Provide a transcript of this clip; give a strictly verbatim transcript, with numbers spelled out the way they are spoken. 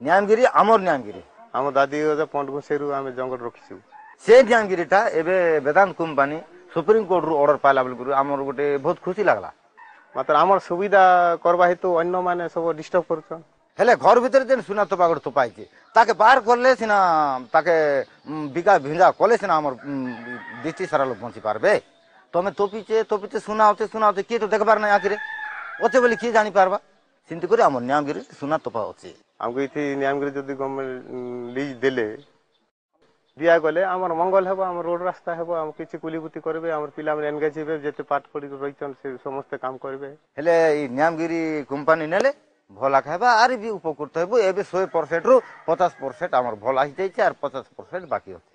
ନିୟମଗିରି ଆମର ନିୟମଗିରି ଆମ ଦାଦି ଅଜା ପଣ୍ଡ ଆମେ ଜଙ୍ଗଲ ରଖିଛୁ ସେ ନିୟମଗିରିଟା ଏବେ ବେଦାନ୍ତ କମ୍ପାନୀ ସୁପ୍ରିମକୋର୍ଟରୁ ଅର୍ଡର ପାଇଲା ବୋଲି ଆମର ଗୋଟେ ବହୁତ ଖୁସି ଲାଗଲା ମାତ୍ର ଆମର ସୁବିଧା କରବା ହେତୁ ଅନ୍ୟମାନେ ସବୁ ଡିଷ୍ଟର୍ବ କରୁଛନ୍ ହେଲେ ଘର ଭିତରେ ଯେନ୍ ସୁନା ତୋପା ଗୋଟେ ତୋପା ହେଇଛି ତାକେ ବାହାର କଲେ ସିନା ତାକେ ବିକା ଭିଞ୍ଜା କଲେ ସିନା ଆମର ଡିଷ୍ଟ୍ରିକ୍ଟ ସାରା ଲୋକ ବଞ୍ଚି ପାରବେ ତମେ ତୋପିଛେ ତୋପିଛେ ସୁନା ଅଛେ ସୁନା ଅଛେ କିଏ ତ ଦେଖବାର ନାଇଁ ଆଖିରେ ଅଛେ ବୋଲି କିଏ ଜାଣିପାରବା ସେମିତି କରି ଆମର ନିୟମଗିରି ସୁନା ତୋପା ଅଛି ଆମକୁ ଏଠି ନିୟମଗିରି ଯଦି ଗଭର୍ଣ୍ଣମେଣ୍ଟ ଲିଜ୍ ଦେଲେ ଦିଆଗଲେ ଆମର ମଙ୍ଗଳ ହେବ ଆମର ରୋଡ ରାସ୍ତା ହେବ ଆମ କିଛି କୁଲିବୁତି କରିବେ ଆମର ପିଲାମାନେ ଏନଗେଜ ହେବେ ଯେତେ ପାଠ ପଢିକି ରହିଛନ୍ ସେ ସମସ୍ତେ କାମ କରିବେ ହେଲେ ଏଇ ନିୟମଗିରି କମ୍ପାନୀ ନେଲେ ଭଲ ଖାଇବା ଆରି ବି ଉପକୃତ ହେବୁ ଏବେ ଶହେ ପରସେଣ୍ଟରୁ ପଚାଶ ପରସେଣ୍ଟ ଆମର ଭଲ ହେଇଯାଇଛି ଆର୍ ପଚାଶ ପରସେଣ୍ଟ ବାକି ଅଛି